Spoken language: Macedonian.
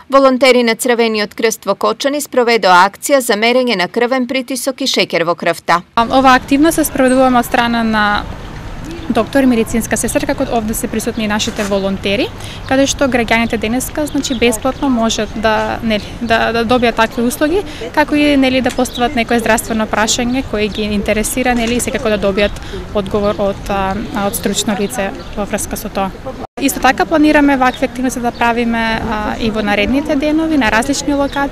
Волонтери на Црвениот крст во Кочани спроведоа акција за мерење на крвен притисок и шеќер во крвта. Ова активност се спроведуваме од страна на доктор и медицинска сестра, како овде се присутни и нашите волонтери, каде што граѓаните денеска бесплатно можат да добијат такви услуги, како и да постават некое здравствено прашање кој ги интересира и секако да добијат одговор од стручно лице во врска со тоа. Исто така планираме вакви активности да правиме и во наредните денови на различни локации.